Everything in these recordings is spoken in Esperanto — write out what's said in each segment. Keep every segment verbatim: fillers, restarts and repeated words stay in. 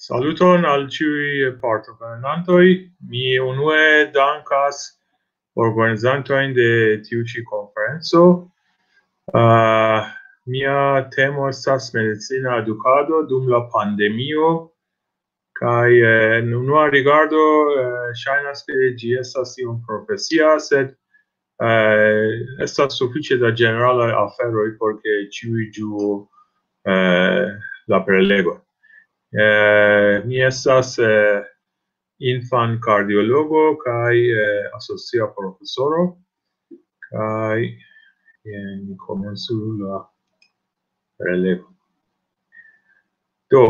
Saluton al ĉiuj partoprenantoj. Mi unue dankas organizantojn de tiu ĉi konferenco. Uh, mia temo estas medicina edukado dum la pandemio. Kaj eh, en unua rigardo eh, ŝajnas, ke ĝi estas iom profesia, sed eh, estas sufiĉe da ĝeneralaj aferoj por ke ĉiuj ĝuu eh, la prelego. Eh, mi estas eh, infan kardiologo kaj eh, asocia profesoro. Kaj eh, ni komencu la prelego. Do,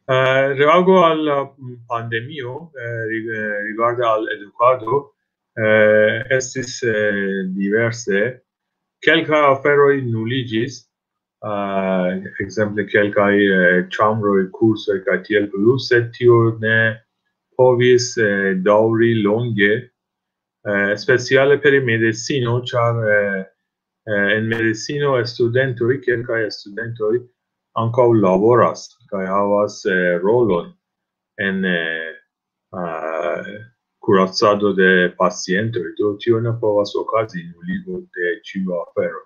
eh, reago al la pandemio eh, rig- eh, rigarde al edukado eh, estis eh, diverse. Kelkaj aferoj nuliĝis, eh, ekzemple kelkaj eh, ĉambroj, kursoj kaj tiel plu, sed tio ne povis eh, daŭri longe, eh, speciale per medicino, ĉar eh, eh, en medicino studentoj, kelkaj studentoj ankaŭ laboras kaj havas eh, rolon en eh, eh, kuracado de pacientoj. Do tio ne povas okazi nuligo de ĉiu afero.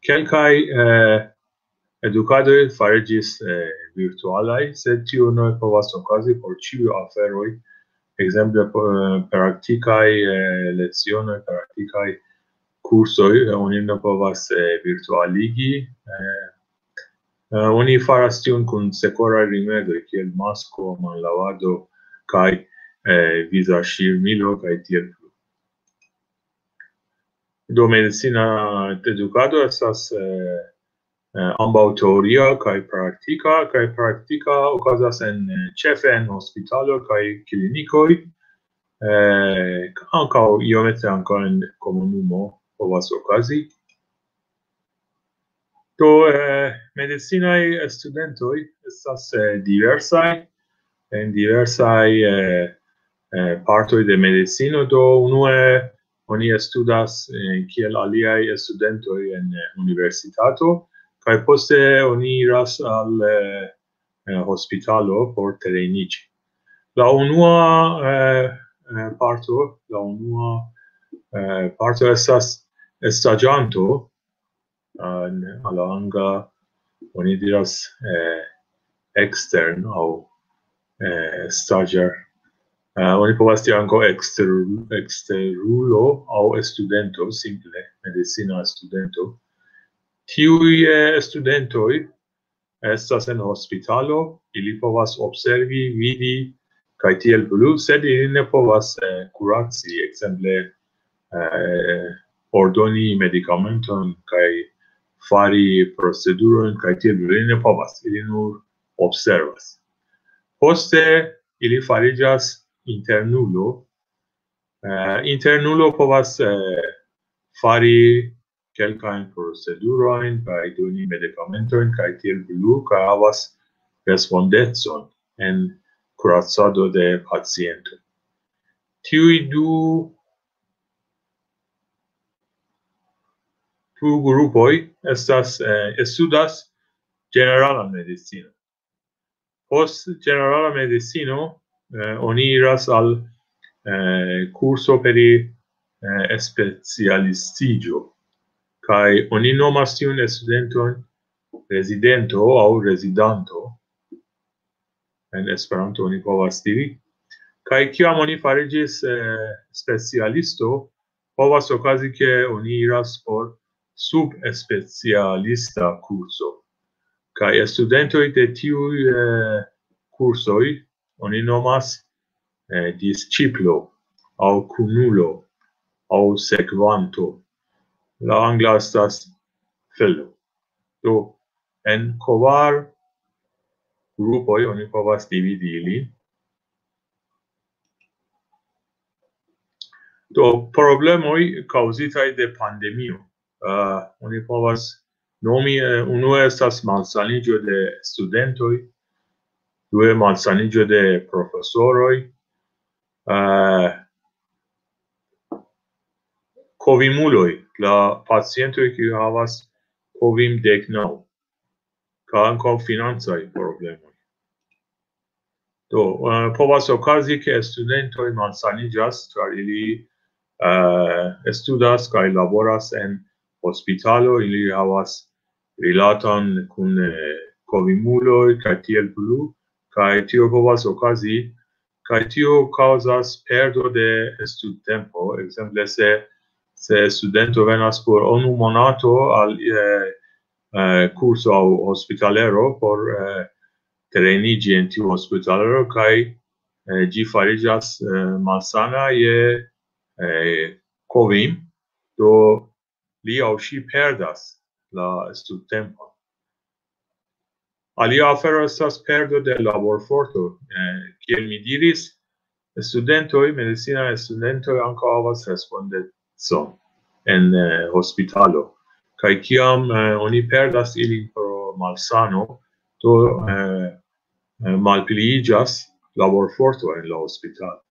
Kelkaj eh, edukadoj fariĝis eh, virtualaj, sed tio ne povas okazi por ĉiuj aferoj. Ekzemple, po- eh, praktikaj eh, lecionoj, praktikaj kursoj, eh, oni ne povas eh, virtualigi. Eh, eh, oni faras tion kun sekoraj rimedoj, kiel masko, manlavado kaj eh, vizaŝirmilo kaj tiel plu. Do medicina edukado estas eh, eh, ambaŭ teoria kaj praktika, kaj praktika okazas en eh, ĉefe en hospitalo kaj klinikoj, eh, ankaŭ iomete ankaŭ en komunumo povas okazi. Do eh, medicinaj studentoj estas eh, diversaj en diversaj eh, eh, partoj de medicino. Do unue oni studas eh, kiel aliaj studentoj en eh, universitato, kaj poste oni iras al eh, eh, hospitalo por treniĝi. La unua eh, eh, parto, la unua eh, parto estas staĝanto, eh, al la angla oni diras eh, extern aŭ eh, stagiar. Eh, oni povas diri ankaŭ ekster, eksterulo aŭ studento, simple medicina studento. Tiuj eh, studentoj estas en hospitalo, ili povas observi, vidi kaj tiel plu, sed ili ne povas eh, kuraci, ekzemple eh, ordoni medikamenton kaj fari procedurojn kaj tiel plu, ili ne povas, ili nur observas. Poste ili fariĝas internulo. Eh, internulo povas eh, fari kelkajn procedurojn kaj doni medikamentojn kaj tiel plu, kaj havas respondecon en kuracado de paciento. Tiuj du du grupoj estas eh, studas ĝeneralan medicinon. Post ĝenerala medicino eh, oni iras al eh, kurso pri eh, specialistiĝo, kaj oni nomas tiun studenton rezidento aŭ rezidanto. En Esperanto oni povas diri. Kaj kiam oni fariĝis eh, specialisto, povas okazi, ke oni iras por subspecialista kurso. Kaj studentoj de tiuj eh, kursoj oni nomas eh, disĉiplo aŭ kunulo aŭ sekvanto. La angla estas fellow. Do, en kvar grupoj oni povas dividi ilin. Do, problemoj kaŭzitaj de pandemio. Uh, oni povas nomi, eh, unue estas malsaniĝo de studentoj, due malsaniĝo de profesoroj, uh, kovimuloj, la pacientoj, kiuj havas kovim dek naŭ. kaj ankaŭ financaj problemoj. Do, eh, povas okazi, ke studentoj malsaniĝas, ĉar ili, eh, studas kaj laboras en hospitalo, ili havas rilaton kun, eh, kovimuloj kaj tiel plu, kaj tio povas okazi, kaj tio kaŭzas perdo de studtempo. Ekzemple, se, se studento venas por unu monato al, eh, eh, kurso aŭ hospitalero por, eh, treniĝi en tiu hospitalero, kaj, eh, ĝi fariĝas, eh, malsana je, eh, kovim, do li aŭ ŝi perdas la studtempon. Alia afero estas perdo de laborforto. Eh, kiel mi diris, studentoj, medicinaj studentoj ankaŭ havas respondecon en, eh, hospitalo. Kaj kiam, eh, oni perdas ilin pro malsano, do, eh, eh, malpliiĝas laborforto en la hospitalo.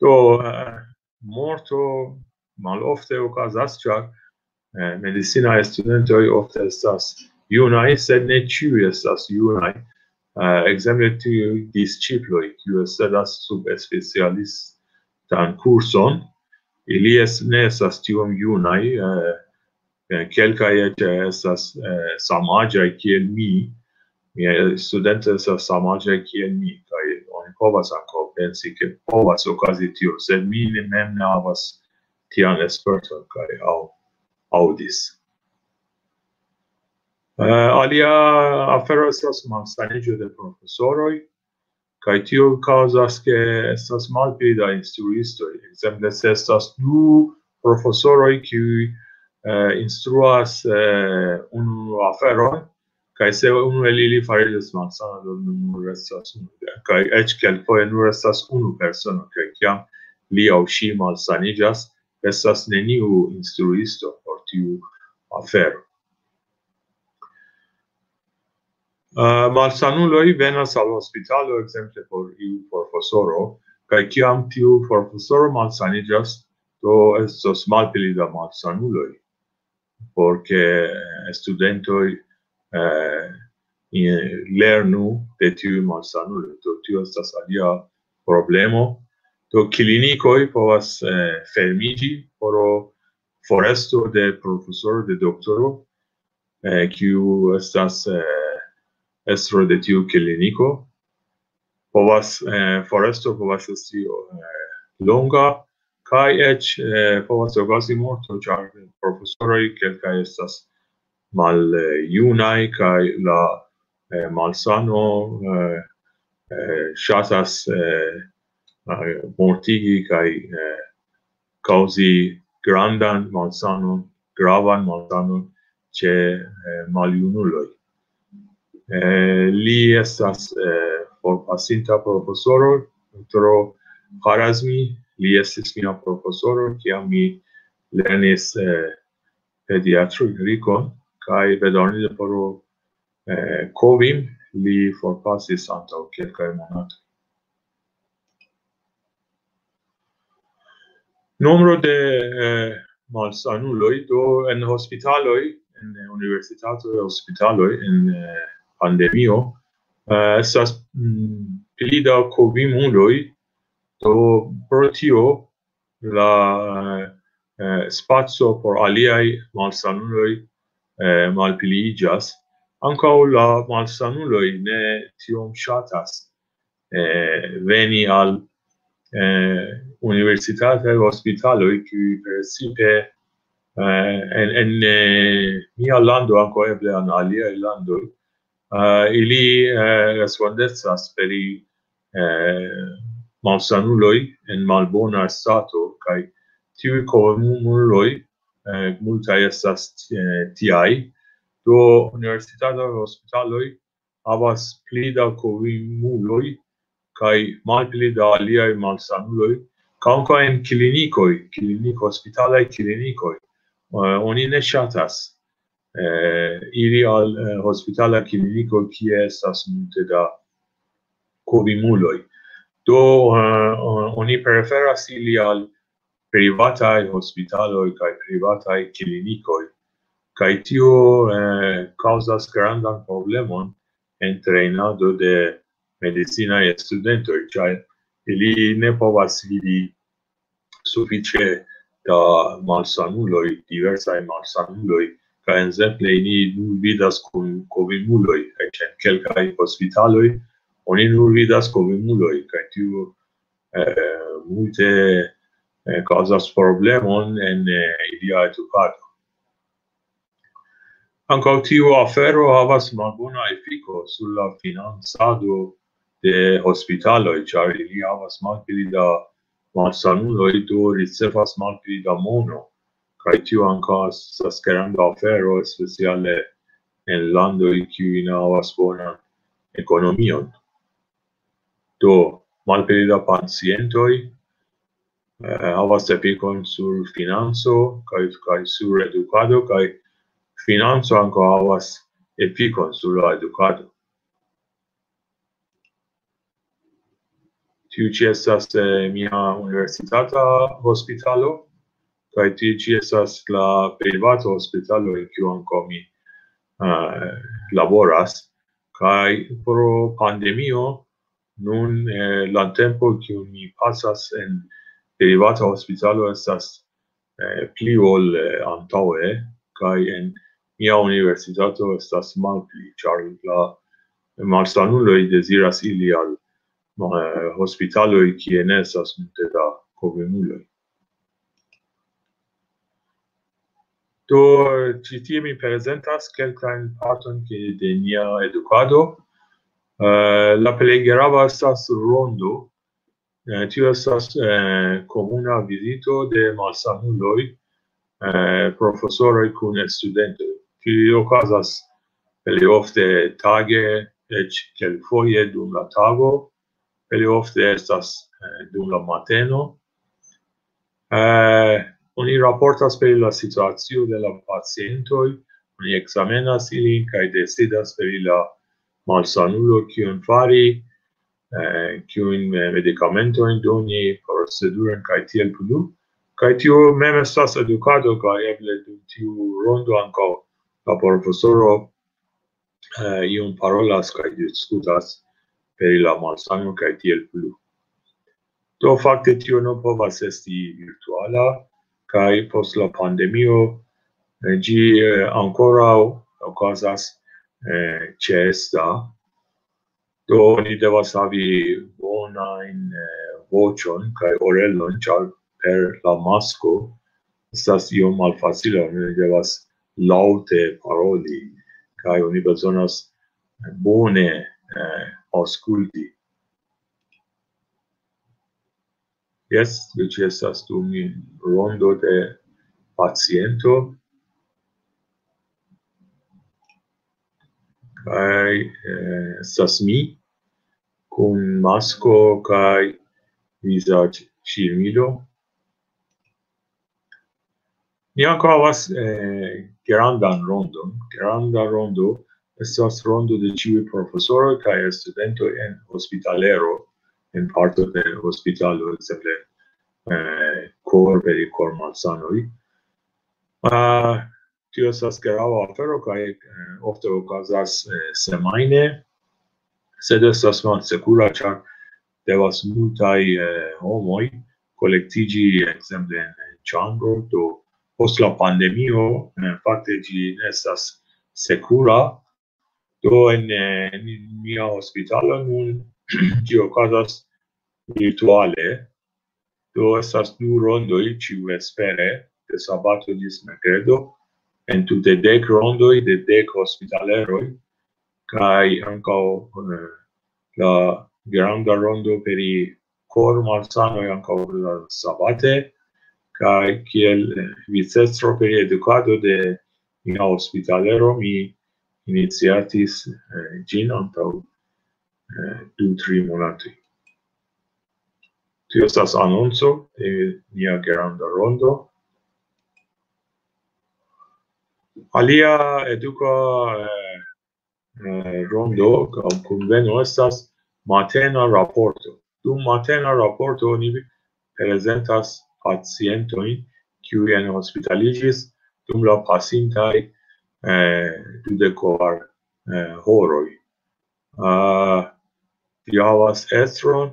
Do, eh, morto malofte okazas, ĉar, eh, medicinaj studentoj ofte estas junaj, sed ne ĉiuj estas junaj. Eh, ekzemple tiuj disĉiploj, kiuj studas subspecialistan kurson, ili es-, ne estas tiom junaj, eh, eh, kelkaj eĉ estas, eh, samaĝaj kiel mi, miaj studentoj estas samaĝaj kiel mi, kaj oni povas ankaŭ pensi, ke povas okazi tio, sed mi ne, mem ne havas tian sperton kaj aŭ-, aŭdis. Eh, alia afero estas malsaniĝo de profesoroj, kaj tio kaŭzas, ke estas malpli da instruistoj. Ekzemple, se estas du profesoroj, kiuj, eh, instruas, eh, unu aferon, kaj se unu el ili fariĝas malsana, do nur restas unu. Kaj eĉ kelkfoje nur estas unu persono, kaj kiam li aŭ ŝi malsaniĝas, estas neniu instruisto por tiu afero. Eh, malsanuloj venas al hospitalo, ekzemple por iu profesoro, kaj kiam tiu profesoro malsaniĝas, do estos malpli da malsanuloj, por ke studentoj, eh, i-, lernu de tiuj malsanuloj. Do tio estas alia problemo. Do klinikoj povas, eh, fermiĝi pro foresto de profesoro, de doktoro, eh, kiu estas, eh, estro de tiu kliniko. Povas, eh, foresto povas esti, eh, longa, kaj eĉ, eh, povas okazi morto, ĉar profesoroj kelkaj estas maljunaj, kaj la, eh, malsano, eh, eh, ŝatas, eh, eh, mortigi kaj, eh, kaŭzi grandan malsanon, gravan malsanon ĉe, eh, maljunuloj. Eh, li estas, eh, forpasinta profesoro, doktoro Harazmi, li estis mia profesoro, kiam mi lernis, eh, pediatrikon, kaj bedaŭrinde pro, eh, kovim li forpasis antaŭ kelkaj monatoj. Nombro de, eh, malsanuloj, do en hospitaloj, en universitatoj, hospitaloj, en, eh, pandemio, eh, estas, mm, pli da kovimuloj, do pro tio la, eh, spaco por aliaj malsanuloj, eh, malpliiĝas. Ankaŭ la malsanuloj ne tiom ŝatas, eh, veni al, eh, universitataj hospitaloj, kiuj precipe, eh, en, en, eh, mia lando, ankaŭ eble en aliaj landoj, eh, ili, eh, respondecas pri, eh, malsanuloj en malbona stato, kaj tiuj kovimuloj, eh, multaj estas, eh, tiaj. Do universitataj hospitaloj havas pli da kovimuloj kaj malpli da aliaj malsanuloj, kaj ankaŭ en klinikoj, klinik-, hospitalaj klinikoj, eh, oni ne ŝatas, eh, iri al, eh, hospitala kliniko, kie estas multe da kovimuloj. Do, eh, oni preferas iri al privataj hospitaloj kaj privataj klinikoj, Kaj tio eh, kaŭzas grandan problemon en trejnado de medicinaj studentoj, ĉar ili ne povas vidi sufiĉe da malsanuloj, diversaj malsanuloj, kaj ekzemple ili nur vidas kun kovimuloj, eĉ en kelkaj hospitaloj oni nur vidas kovimuloj, kaj tio eh, multe eh, kaŭzas problemon en eh, ilia edukado. Ankaŭ tiu afero havas malbona efiko sur la financado de hospitaloj, ĉar ili havas malpli da malsanuloj, do ricevas malpli da mono. Kaj tio ankaŭ estas granda afero, speciale en landoj, kiuj ne havas bonan ekonomion. Do, malpli da pacientoj eh, havas efikon sur financo kaj, kaj sur edukado, kaj financo ankaŭ havas efikon sur la edukado. Tiu ĉi estas eh, mia universitata hospitalo, kaj tiu ĉi estas la privata hospitalo, en kiu ankaŭ mi eh, laboras. Kaj pro pandemio, nun eh, la tempo, kiu mi pasas en privata hospitalo, estas eh, pli ol eh, antaŭe, kaj en mia universitato estas malpli, ĉar la malsanuloj deziras ili al eh, hospitaloj, kie ne estas multe da kovimuloj. Do, ĉi tie mi prezentas kelkajn partojn ke- de nia edukado. Eh, la plej grava estas rondo. Eh, tio estas eh, komuna vizito de malsanuloj, eh, profesoroj kun studentoj. Tio okazas plej ofte tage, eĉ kelkfoje dum la tago, plej ofte estas eh, dum la mateno. Eh, oni raportas pri la situacio de la pacientoj, oni ekzamenas ilin kaj decidas pri la malsanulo, kion fari, eh, kiujn eh, medikamentojn doni, procedurojn kaj tiel plu. Kaj tio mem estas edukado, kaj eble dum tiu rondo ankaŭ la profesoro eh, iom parolas kaj diskutas pri la malsano kaj tiel plu. Do fakte tio ne povas esti virtuala, kaj post la pandemio eh, ĝi eh, ankoraŭ okazas eh, ĉeesta. Do oni devas havi bonajn eh, voĉon kaj orelon, ĉar per la masko estas iom malfacila, oni devas laŭte paroli, kaj oni bezonas bone eh, aŭskulti. Jes, ĝi estas dum rondo de paciento. Kaj eh, estas mi kun masko kaj vizaĝ ŝirmilo. Ni ankaŭ havas eh, grandan rondon. Granda rondo estas rondo de ĉiuj profesoroj kaj studentoj en hospitalero, en parto de hospitalo, ekzemple eh, kor- per kormalsanoj. Uh, tio estas grava afero kaj eh, ofte okazas eh, semajne, sed estas malsekura, ĉar devas multaj eh, homoj kolektiĝi, ekzemple en ĉambro. Do post la pandemio, eh, fakte ĝi ne estas sekura. Do en, eh, en mia hospitalo nun ĝi okazas virtuale. Do estas du rondoj ĉiuvespere, de sabato ĝis merkredo, en tute dek rondoj de dek hospitaleroj, kaj ankaŭ eh, la granda rondo pri kor-malsanoj ankaŭ la sabate, kaj kiel eh, vicestro pri edukado de mia hospitalero mi iniciatis eh, ĝin antaŭ eh, du, tri monatoj. Tio estas anonco de nia granda rondo. Alia eduka eh, eh, rondo aŭ kunveno estas matena raporto. Dum matena raporto oni prezentas pacientojn, kiuj enhospitaliĝis dum la pasintaj eh, dudek kvar, eh, horoj. Ah, vi havas estron,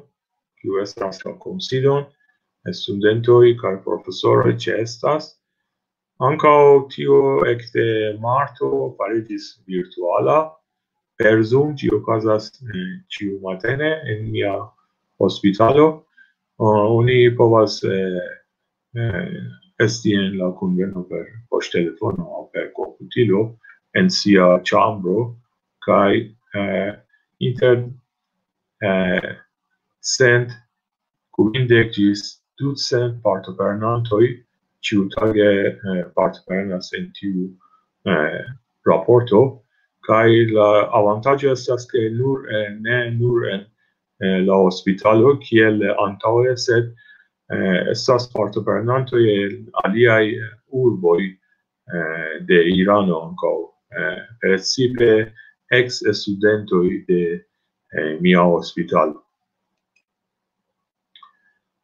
kiu estras la konsilon, studentoj kaj profesoroj ĉeestas. Ankaŭ tio ekde marto fariĝis virtuala. Per Zoom ĝi okazas, eh, ĉiumatene en mia hospitalo. Ah, oni povas, eh, eh, esti en la kunveno per poŝtelefono aŭ per komputilo en sia ĉambro, kaj, eh, inter, eh, cent kvindek ĝis ducent partoprenantoj ĉiutage, eh, partoprenas en tiu, eh, raporto, kaj la avantaĝo estas, ke nur, eh, ne nur en, eh, la hospitalo, kiel antaŭe, sed, eh, estas partoprenantoj el aliaj urboj, eh, de Irano ankaŭ, eh, precipe ex-studentoj de, eh, mia hospitalo.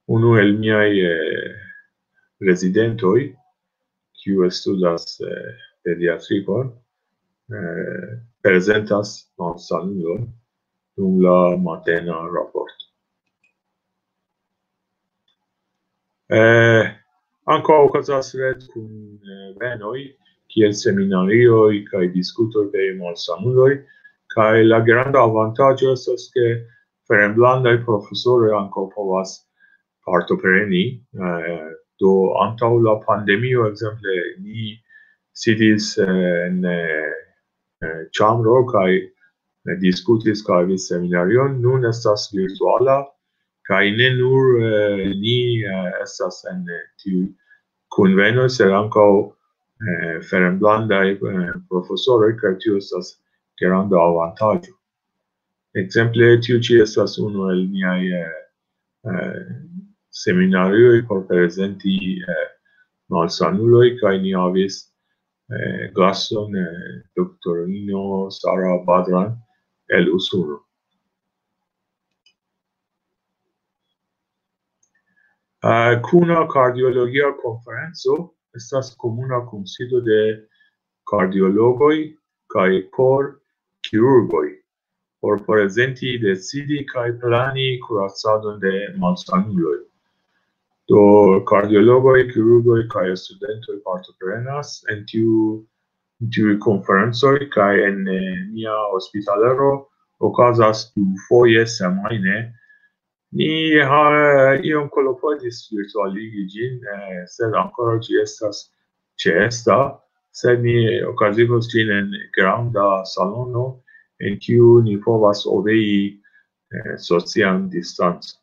Unu el miaj, eh, rezidentoj, kiu studas, eh, pediatrikon, eh, prezentas malsanulon dum la matena raporto. Eh, ankaŭ okazas ret kun, eh, venoj, kiel seminarioj kaj diskutoj de malsanuloj, kaj la granda avantaĝo estas, ke fremdlandaj profesoroj ankaŭ povas partopreni. Eh, do antaŭ la pandemio, ekzemple, ni sidis, eh, en, eh, eh, ĉambro kaj, eh, diskutis kaj havis seminarion. Nun estas virtuala, kaj ne nur, eh, ni, eh, estas en, eh, tiuj kunvenoj, sed ankaŭ, eh, fremdlandaj, eh, profesoroj, kaj tio estas granda avantaĝo. Ekzemple, tiu ĉi estas unu el niaj, eh, eh, seminarioj por prezenti, eh, malsanuloj, kaj ni havis, eh, gaston, eh, doktorino Sara Badran el Usono. Eh, kuna kardiologia konferenco estas komuna kunsido de kardiologoj kaj kor-kirurgoj por prezenti, decidi kaj plani kuracadon de malsanuloj. Do kardiologoj, kirurgoj kaj studentoj partoprenas en tiu, tiuj konferencoj, kaj en, eh, nia hospitalero okazas dufoje semajne. Ni ha-, iom kolportis virtualigi ĝin, eh, sed ankoraŭ ĝi estas ĉeesta, sed ni okazigos ĝin en granda salono, en kiu ni povas obei, eh, socian distancon.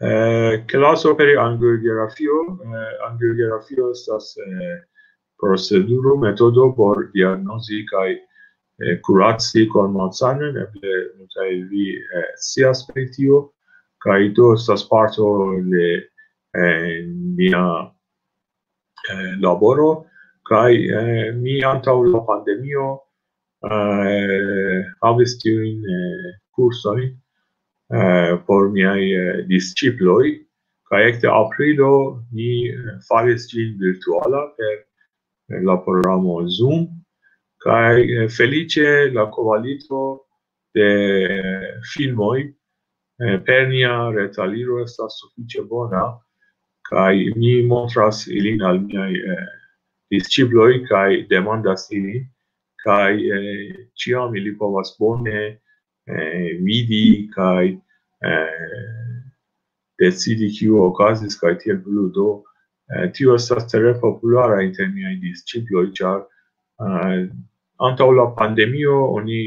Eh, klaso pri angiografio. Eh, angiografio estas, eh, proceduro, metodo por diagnozi kaj, eh, kuraci kormalsanon, eble multaj el vi, eh, scias pri tio, kaj do estas parto de, eh, nia, eh, laboro, kaj, eh, mi antaŭ la pandemio, eh, havis tiujn, eh, kursojn, eh, por miaj, eh, disĉiploj, kaj ekde aprilo ni, eh, faris ĝin virtuala per, eh, la programo Zoom, kaj, eh, feliĉe la kvalito de filmoj, eh, per nia retaliro estas sufiĉe bona, kaj mi montras ilin al miaj, eh, disĉiploj kaj demandas ilin, kaj, eh, ĉiam ili povas bone, eh, vidi kaj, eh, decidi, kio okazis, kaj tiel plu. Do, eh, tio estas tre populara inter miaj disĉiploj, ĉar, eh, antaŭ la pandemio oni,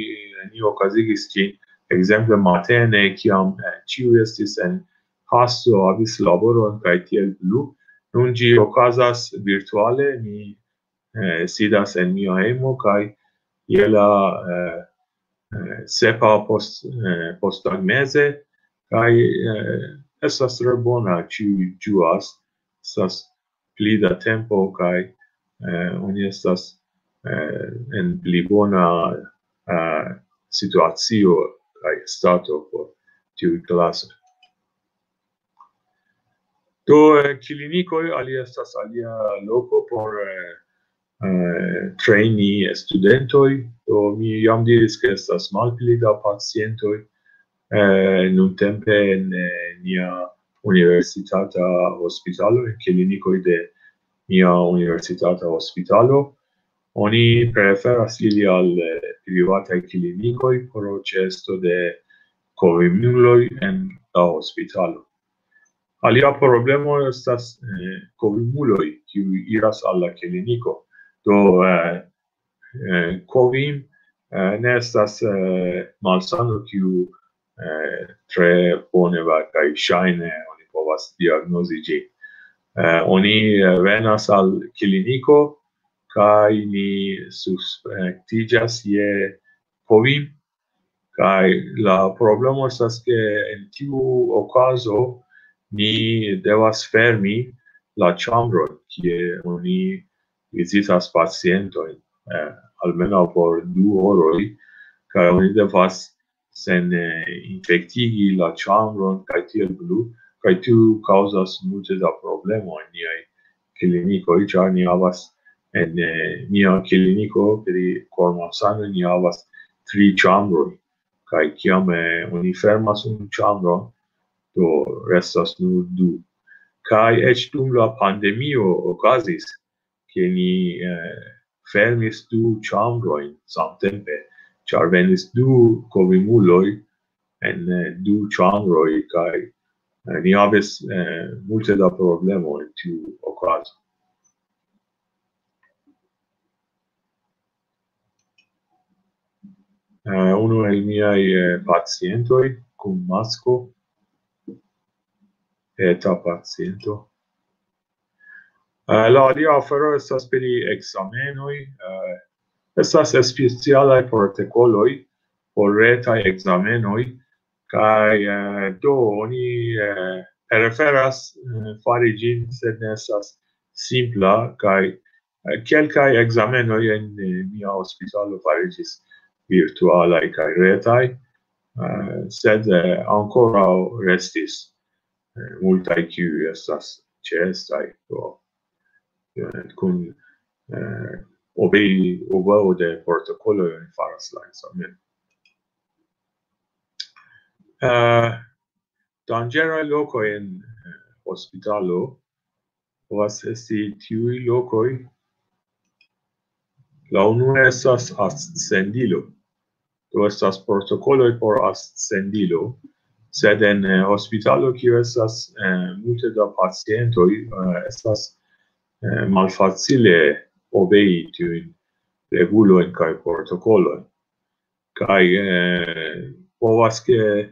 ni okazigis ĝin, ekzemple, matene, kiam, eh, ĉiuj estis en hasto, havis laboron kaj tiel plu. Nun ĝi okazas virtuale, mi, eh, sidas en mia hejmo kaj je la, eh, eh, sepa post, eh, posttagmeze, kaj, eh, estas tre bona, ĉiuj ĝuas, estas pli da tempo kaj, eh, oni estas, eh, en pli bona, eh, situacio kaj stato por tiuj klasoj. Do, eh, klinikoj alia estas alia loko por, eh, eh, treni studentoj. Do, mi jam diris, ke estas malpli da pacientoj, eh, nuntempe en, eh, nia universitata hospitalo, en klinikoj de nia universitata hospitalo. Oni preferas ili al, eh, privataj klinikoj pro ĉeesto de kovimuloj en la hospitalo. Alia problemo estas, eh, kovimuloj, kiuj iras al la kliniko. Do, eh, eh, kovim, eh, ne estas, eh, malsano, kiu, eh, tre bone va-, kaj ŝajne oni povas diagnozi ĝin. Eh, oni, eh, venas al kliniko kaj ni suspektiĝas je kovim. Kaj la problemo estas, ke en tiu okazo ni devas fermi la ĉambron, kie oni vizitas pacientojn, eh, almenaŭ por du horoj, kaj oni devas sen, eh, infektigi la ĉambron kaj tiel plu, kaj tiu kaŭzas multe da problemoj en niaj klinikoj, ĉar ni havas en, eh, mia kliniko pri kormalsanoj ni havas tri ĉambroj, kaj kiam, eh, oni fermas unu ĉambron, do restas nur du. Kaj eĉ dum la pandemio okazis, ke ni, eh, fermis du ĉambrojn samtempe, ĉar venis du kovimuloj en, eh, du ĉambroj, kaj, eh, ni havis, eh, multe da problemoj en tiu okazo. Eh, unu el miaj, eh, pacientoj kun masko, eta paciento. Eh, la alia afero estas pri ekzamenoj. Eh, estas specialaj protokoloj por retaj ekzamenoj, kaj, eh, do oni, eh, preferas, eh, fari ĝin, sed ne estas simpla, kaj, eh, kelkaj ekzamenoj en, eh, mia hospitalo fariĝis virtualaj kaj retaj, eh, sed, eh, ankoraŭ restis, eh, multaj, kiuj estas ĉeestaj, do, eh, kun, eh, obei-, obeo de protokoloj oni faras la ekzamenon. Eh, danĝeraj lokoj en, eh, hospitalo povas esti tiuj lokoj. La unua estas astsendilo. Do estas protokoloj por astsendilo, sed en, eh, hospitalo, kiu estas, eh, multe da pacientoj, eh, estas, eh, malfacile obei tiujn regulojn kaj protokolojn. Kaj, eh, povas, ke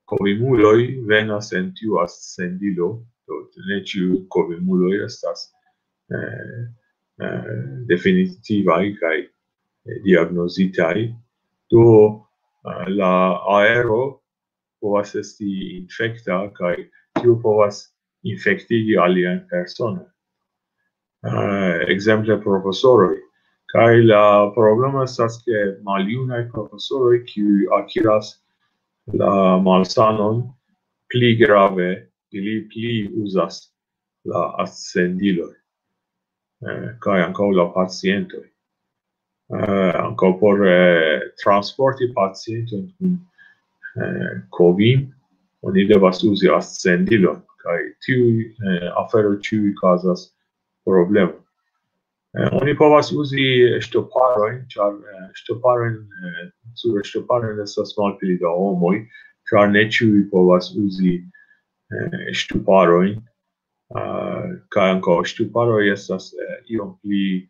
kovimuloj venas en tiu astsendilo, do ne ĉiuj kovimuloj estas, eh, eh, definitivaj kaj, eh, diagnozitaj. Do, eh, la aero povas esti infekta, kaj tio povas infektigi aliajn personojn. Eh, ekzemple profesoroj. Kaj la problemo estas, ke maljunaj profesoroj, kiuj akiras la malsanon, pli grave, ili pli uzas la astsendiloj, eh, kaj ankaŭ la pacientoj. Eh, ankaŭ por, eh, transporti pacientojn kun, eh, kovin, oni devas uzi astsendilon, kaj tiuj, eh, aferoj ĉiuj kaŭzas problemon. Eh, oni povas uzi ŝtoparojn, ĉar, eh, ŝtoparojn, eh, sur ŝtoparojn estas malpli da homoj, ĉar ne ĉiuj povas uzi, eh, ŝtoparojn. Eh, kaj ankaŭ ŝtoparoj estas, eh, iom pli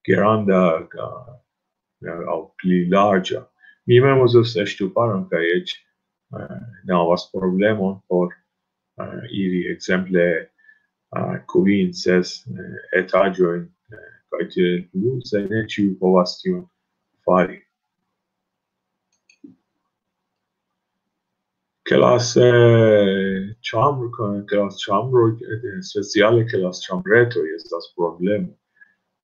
granda, ka-, eh, aŭ pli larĝa. Mi mem uzas ŝtoparon kaj eĉ, eh, ne havas problemon por, eh, iri, ekzemple, eh, kvin, ses, eh, etaĝojn, eh, kaj tiel plu, sed ne ĉiuj povas tion fari. Ke las, eh, ĉambro-, ke las ĉambroj, eh, speciale ke las ĉambretoj estas problemo.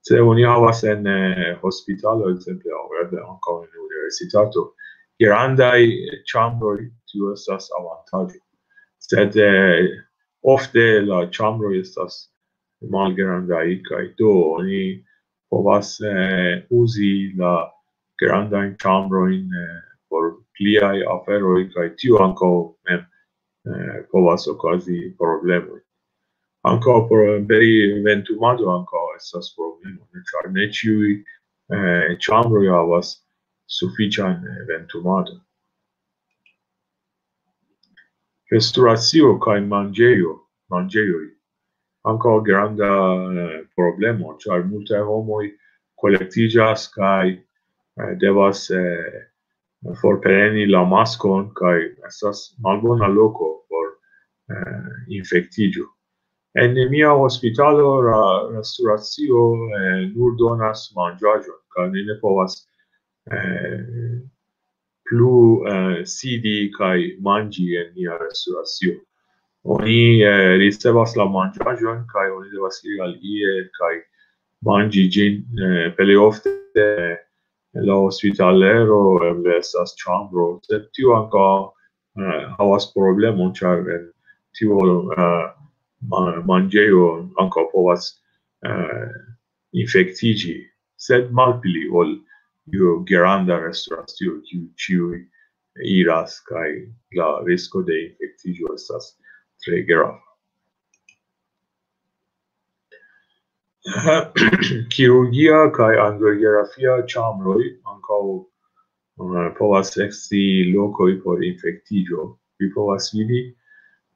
Se oni havas en, eh, hospitalo, ekzemple, aŭ eble ankaŭ en universitato, grandaj ĉambroj, tio estas avantaĝo. Sed, eh, Ofte la ĉambroj estas malgrandaj, kaj do oni povas eh, uzi la grandajn ĉambrojn eh, por pliaj aferoj, kaj tio ankaŭ mem eh, povas okazi problemoj. Ankaŭ por beri ventumado ankaŭ estas problemo, ne? Ĉar ne ĉiuj eh, ĉambroj havas sufiĉan eh, ventumadon. Restoracio kaj manĝejo, manĝejoj. Ankaŭ granda eh, problemo, ĉar multaj homoj kolektiĝas kaj eh, devas eh, forpreni la maskon, kaj estas malbona loko por eh, infektiĝo. En mia hospitalo la restoracio eh, nur donas manĝaĵon, kaj ni ne povas eh, plu eh, sidi kaj manĝi en nia restoracio. Oni eh, ricevas la manĝaĵon, kaj oni devas iri al ie kaj manĝi ĝin eh, plej ofte eh, en la hospitalero, eble estas ĉambro, sed tio ankaŭ eh, havas problemon, ĉar en tiu eh, ma- manĝejo ankaŭ povas eh, infektiĝi, sed malpli ol iu granda restoracio, kiu ĉiuj iras, kaj la risko de infektiĝo estas tre grava. Kirurgia kaj angiografia ĉambroj ankaŭ eh, povas esti lokoj por infektiĝo. Vi povas vidi,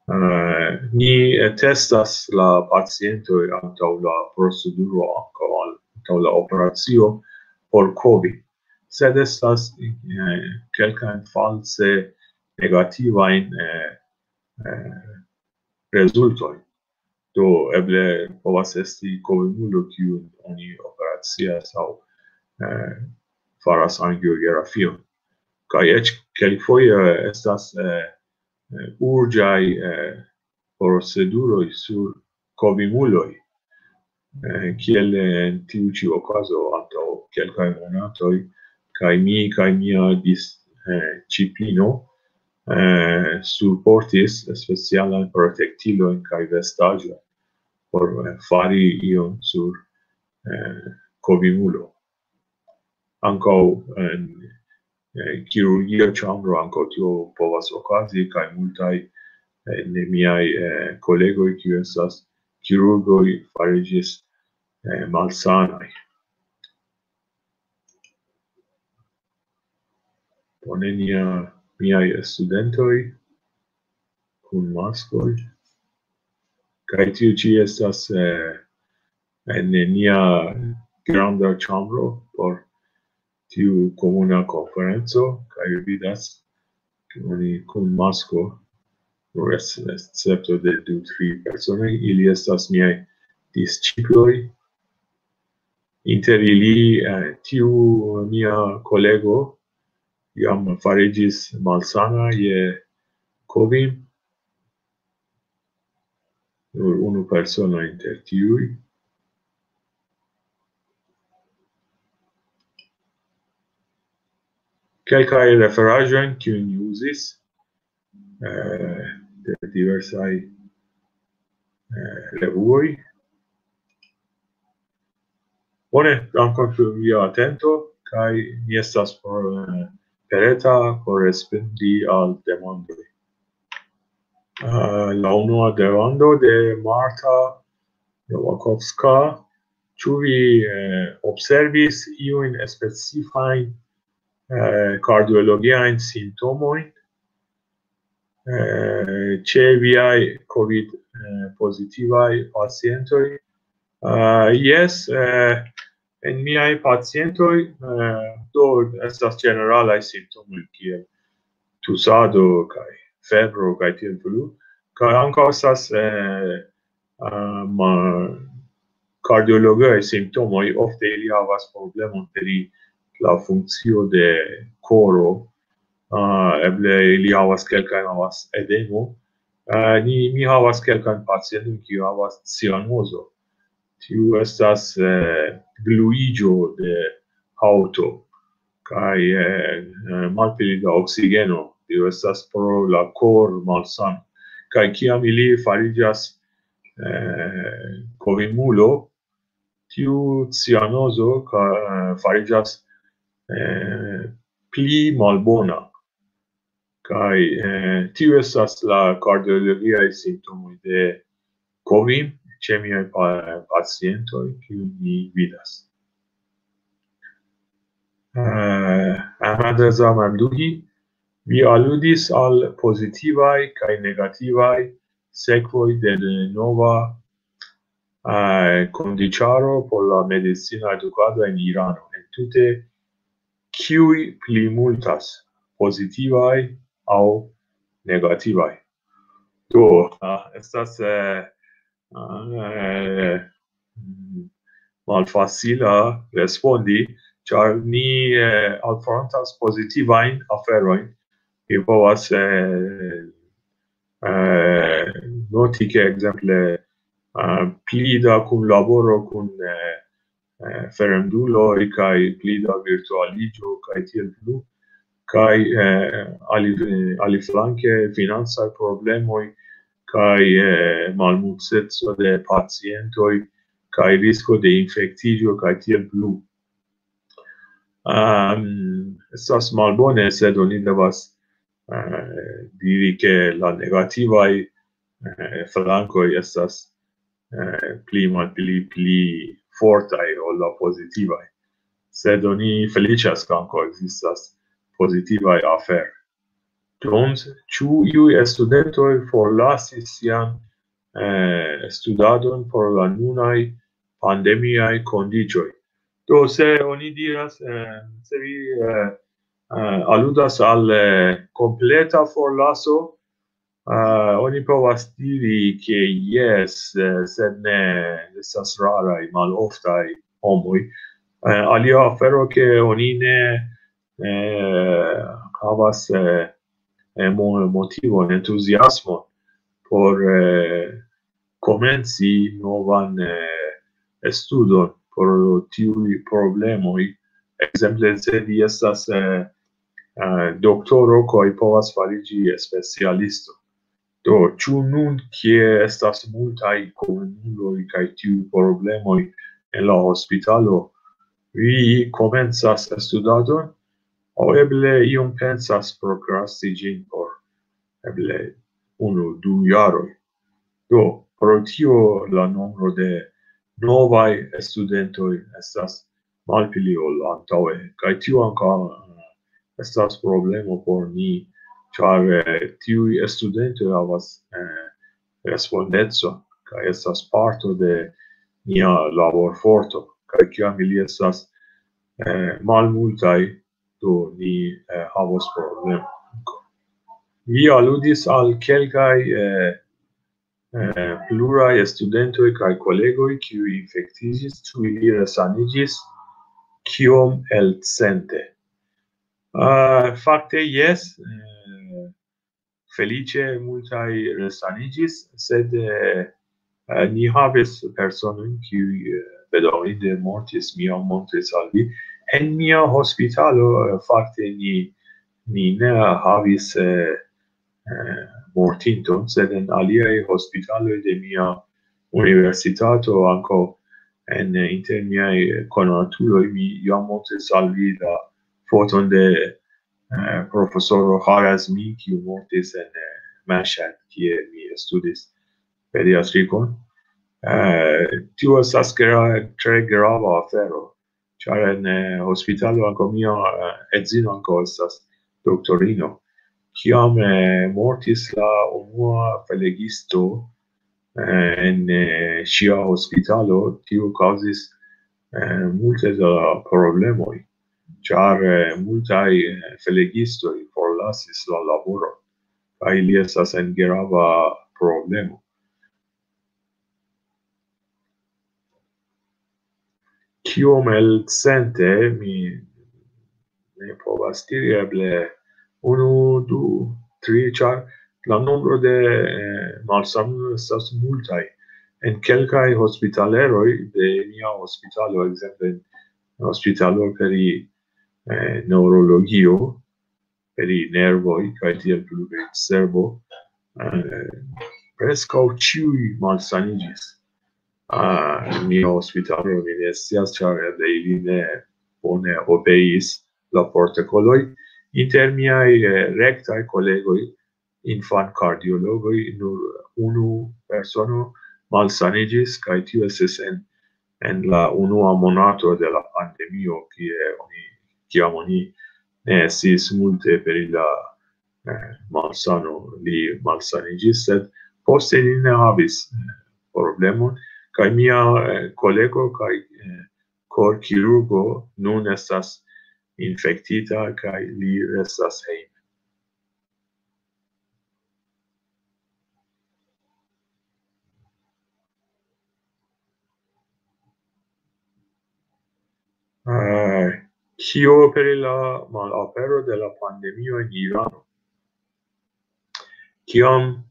eh, ni eh, testas la pacientoj antaŭ la proceduro, ankaŭ antaŭ la operacio por kovi. Sed estas eh, kelkajn false negativajn eh, eh, rezultojn. Do eble povas esti kovimulo, kiun oni operacias aŭ eh, faras angiografion. Kaj eĉ kelkfoje estas eh, eh, urĝaj eh, proceduroj sur kovimuloj, eh, kiel en tiu ĉi okazo antaŭ kelkaj monatoj, kaj mi kaj mia disĉiplino eh, suportis specialajn protektilojn kaj vestaĵojn por eh, fari ion sur eh, kovimulo. Ankaŭ en eh, kirurgia ĉambro ankaŭ tio povas okazi, kaj multaj eh, de miaj eh, kolegoj, kiuj estas kirurgoj, fariĝis eh, malsanaj. Bone, nia, miaj studentoj kun maskoj. Kaj tiu ĉi estas eh, en nia granda ĉambro por tiu komuna konferenco, kaj vi vidas, ke oni kun masko, nur es- escepto de du, tri personoj, ili estas miaj disĉiploj. Inter ili eh, tiu mia kolego jam fariĝis malsana je kovi. Nur unu persono inter tiuj. Kelkaj referaĵojn, kiujn mi uzis eh, de diversaj eh, revuoj. Bone, dankon pro via atento, kaj mi estas por, eh, preta por respondi al demandoj. Eh, la unua demando de Marta Novakovska: ĉu vi eh, observis iujn specifajn eh, kardiologiajn simptomojn eh, ĉe viaj covid eh, pozitivaj pacientoj? Eh, jes, eh, en miaj pacientoj eh, do estas ĝeneralaj simptomoj kiel tusado kaj febro kaj tiel plu, kaj ankaŭ estas eh, um, kardiologiaj simptomoj. Ofte ili havas problemon pri la funkcio de koro. Uh, eble ili havas kelkajn, havas edemo. Uh, ni, mi havas kelkajn pacientojn, kiu havas cianozo. Tiu estas eh, gluiĝo de haŭto kaj eh, eh, malpli da oksigeno. Tio estas pro la kor malsano. Kaj kiam ili fariĝas eh, kovimulo, tiu cianozo ka, eh, fariĝas eh, pli malbona. Kaj eh, tiu estas la kardiologiaj simptomoj de kovim ĉe miaj pa- pacientoj, kiu mi vidas. Eh, Ahmad Reza Mamduhi, vi aludis al pozitivaj kaj negativaj sekvoj de nova eh, kondiĉaro por la medicina edukado en Irano. En tute, kiuj pli multas, pozitivaj aŭ negativaj? Do, ah, estas eh, ah, eh, mm, malfacila respondi, ĉar ni eh, alfrontas pozitivajn aferojn. Mi povas eh, eh, noti, ke ekzemple eh, pli da kunlaboro kun eh, eh, fremduloj kaj pli da virtualiĝo kaj tiel plu. Kaj eh, ali, aliflanke financaj problemoj kaj eh, malmulteco de pacientoj kaj risko de infektiĝo kaj tiel plu. Um, estas malbone, sed oni devas eh, diri, ke la negativaj eh, flankoj estas eh, pli malpli pli fortaj ol la pozitivaj. Sed oni feliĉas, ke ankaŭ ekzistas pozitivaj aferoj. Jones, ĉu iuj studentoj forlasis sian eh, studadon por la nunaj pandemiaj kondiĉoj? Do, se oni diras, eh, se vi eh, eh, aludas al eh, kompleta forlaso, eh, oni povas diri, ke jes, eh, sed ne estas raraj, maloftaj homoj. Eh, alia afero, ke oni ne eh, havas eh, eh, mo- motivon, entuziasmon por eh, komenci novan eh, studon por tiuj problemoj. Ekzemple, se vi estas eh, eh, doktoro, kaj povas fariĝi specialisto. Do, ĉu nun, kie estas multaj komunuloj kaj tiuj problemoj en la hospitalo, vi komencas studadon, aŭ eble iom pensas prokrasti ĝin por eble unu, du jaroj? Do, pro tio la nombro de novaj studentoj estas malpli ol antaŭe, kaj tio ankaŭ eh, estas problemo por ni, ĉar eh, tiuj studentoj havas eh, respondecon, kaj estas parto de nia laborforto, kaj kiam ili estas eh, malmultaj, do ni eh, havos problemo. Vi aludis al kelkaj eh, eh, pluraj studentoj kaj kolegoj, kiuj infektiĝis, ĉu ili resaniĝis, kiom elcente? Uh, fakte, jes. Eh, feliĉe multaj resaniĝis, sed eh, eh, ni havis personojn, kiuj eh, bedaŭrinde mortis, mi jam montris al vi. En mia hospitalo, eh, fakte, ni, ni ne havis eh, eh, mortinton, sed en aliaj hospitaloj de mia universitato, ankaŭ en, inter miaj konatuloj, mi jam montris al vi la foton de eh, profesoro Harazmi, kiu mortis en eh, Mashhad, kie mi studis pediatrikon. Eh, tio estas gra- tre grava afero, ĉar en eh, hospitalo ankaŭ mia eh, edzino ankaŭ estas doktorino. Kiam eh, mortis la unua flegisto eh, en eh, ŝia hospitalo, tio kaŭzis eh, multe da problemoj, ĉar eh, multaj eh, flegistoj forlasis la laboron, kaj ili estas en grava problemo. Kiom elcente, mi ne povas diri, eble unu, du, tri, ĉar la nombro de eh, malsanuloj estas multaj. En kelkaj hospitaleroj de nia hospitalo, ekzemple en hospitalo pri eh, neŭrologio, pri nervoj kaj tiel plu, pri cerbo, eh, preskaŭ ĉiuj malsaniĝis. Ah, mia hospitalo, mi ne scias, ĉar eble ili ne bone obeis la protokoloj. Inter miaj, eh, rektaj kolegoj, infankardiologoj, nur unu persono malsaniĝis, kaj tio estis en, en la unua monato de la pandemio, kie oni, kiam oni ne estis multe pri la, eh, malsano, li malsaniĝis, sed poste li ne havis, eh, problemon, kaj mia, eh, kolego kaj, eh, korkirurgo nun estas infektita kaj li restas hejme. Eh, kio pri la malapero de la pandemio en Irano? Kiam,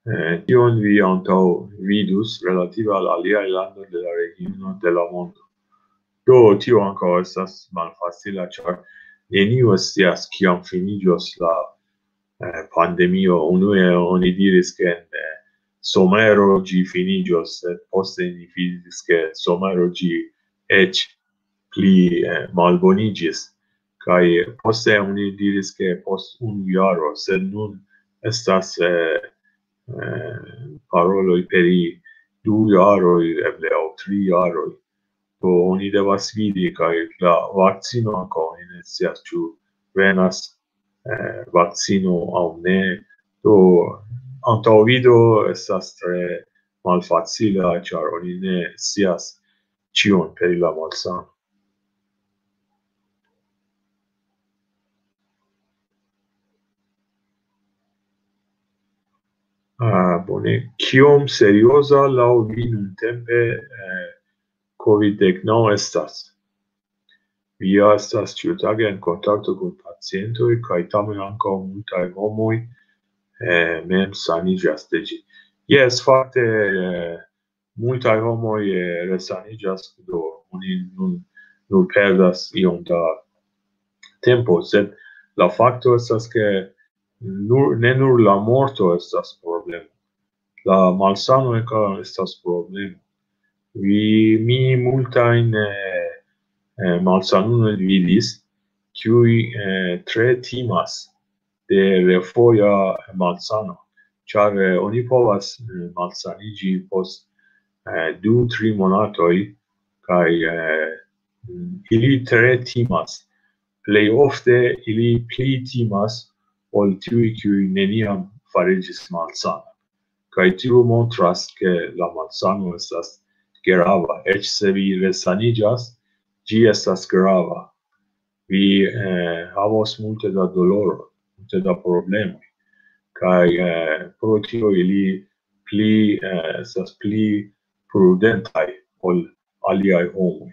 eh, tion vi antaŭ vidus relative al aliaj landoj de la regiono de la mondo? Do, tio ankaŭ estas malfacila, ĉar neniu scias kiam finiĝos la, eh, pandemio. Unue oni diris, ke en, eh, somero ĝi finiĝos, sed poste ni vidis, ke somero ĝi eĉ pli, eh, malboniĝis. Kaj poste oni diris, ke post unu jaro, sed nun estas, eh, eh, paroloj pri du jaroj, eble aŭ tri jaroj. Do oni devas vidi, kaj la vakcino ankaŭ, oni ne scias, ĉu venas, eh, vakcino aŭ ne. Do antaŭvido estas tre malfacila, ĉar oni ne scias ĉion pri la malsano. Ah, bone. Kiom serioza laŭ vi nuntempe, eh, covid dek naŭ estas? Vi ja estas ĉiutage en kontakto kun pacientoj, kaj tamen ankaŭ multaj homoj, eh, mem saniĝas de ĝi. Jes, fakte, eh, multaj homoj, eh, resaniĝas, do oni nun, nun perdas iom da tempo, sed la fakto estas, ke nur, ne nur la morto estas problemo. La malsano ankaŭ estas problemo. Vi, mi multajn, eh, eh, malsanulojn vidis, kiuj, eh, tre timas de refoja malsano, ĉar, eh, oni povas, eh, malsaniĝi post, eh, du, tri monatoj, kaj, eh, ili tre timas. Plej ofte ili pli timas ol tiuj, kiuj neniam fariĝis malsana. Kaj tio montras, ke la malsano estas grava. Eĉ se vi resaniĝas, ĝi estas grava. Vi, eh, havos multe da doloro, multe da problemoj. Kaj, eh, pro tio ili pli, eh, estas pli prudentaj ol aliaj homoj.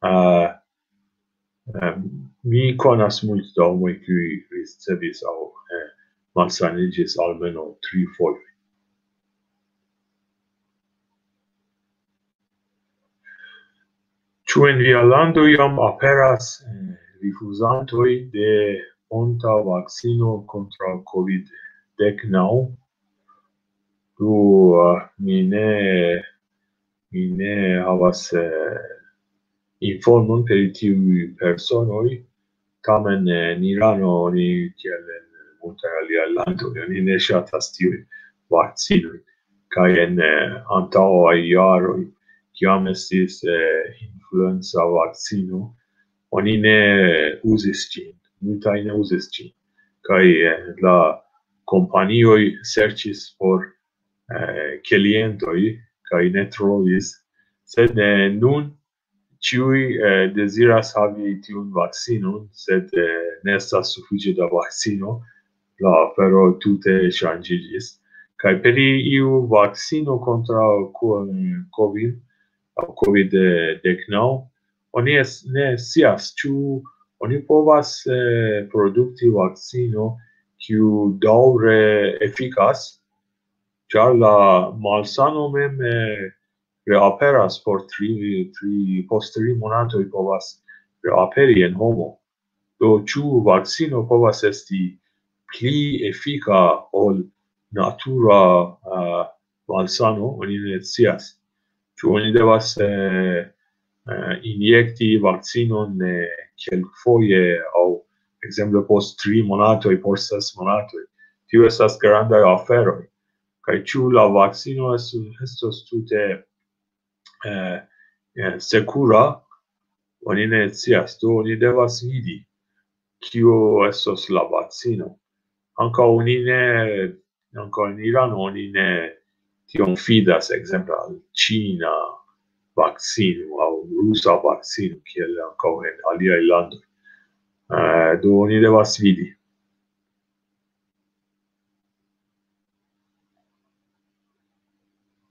Ah, eh, mi konas multe da homoj, kiuj ricevis aŭ, eh, malsaniĝis almenaŭ tri fojoj. Ĉu en via lando jam aperas, eh, rifuzantoj de ponta vakcino kontraŭ covid dek naŭ? Do, eh, mi ne, mi ne havas, eh, informon pri tiuj personoj, tamen, eh, en Irano oni, kiel en multaj aliaj landoj, oni ne ŝatas tiujn vakcinojn. Kaj en, eh, antaŭaj jaroj, kiam estis, eh, influenza vakcino, oni ne uzis ĝin, multaj ne uzis ĝin. Kaj, eh, la kompanioj serĉis por, eh, klientoj kaj ne trovis, sed, eh, nun ĉiuj, eh, deziras havi tiun vakcinon, sed, eh, ne estas sufiĉe da vakcino, la afero tute ŝanĝiĝis. Kaj per iu vakcino kontraŭ ko-, covid, aŭ covid dek naŭ, oni es-, ne scias, ĉu oni povas, eh, produkti vakcino, kiu daŭre efikas, ĉar la malsano mem, eh, reaperas por tri, tri, post tri monatoj povas reaperi en homo. Do, ĉu vakcino povas esti pli efika ol natura, eh, malsano, oni ne scias. Ĉu oni devas, eh, eh, injekti vakcinon, eh, kelkfoje aŭ, ekzemple, post tri monatoj, post ses monatoj? Tio estas grandaj aferoj. Kaj ĉu la vakcino estu-, estos tute, eh, eh, sekura? Oni ne scias. Do oni devas vidi, kio estos la vakcino. Ankaŭ oni ne, ankaŭ en Irano oni ne tiom fidas, ekzemple, al ĉina vakcino aŭ rusa vakcino, kiel ankaŭ en aliaj landoj. Eh, do oni devas vidi.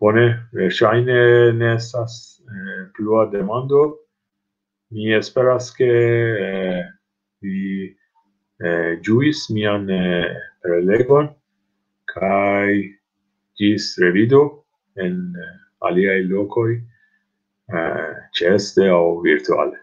Bone, verŝajne ne estas, eh, plua demando. Mi esperas, ke, eh, vi, eh, ĝuis mian, eh, prelegon, kaj ĝis revido en, eh, aliaj lokoj, eh, ĉeeste aŭ virtuale.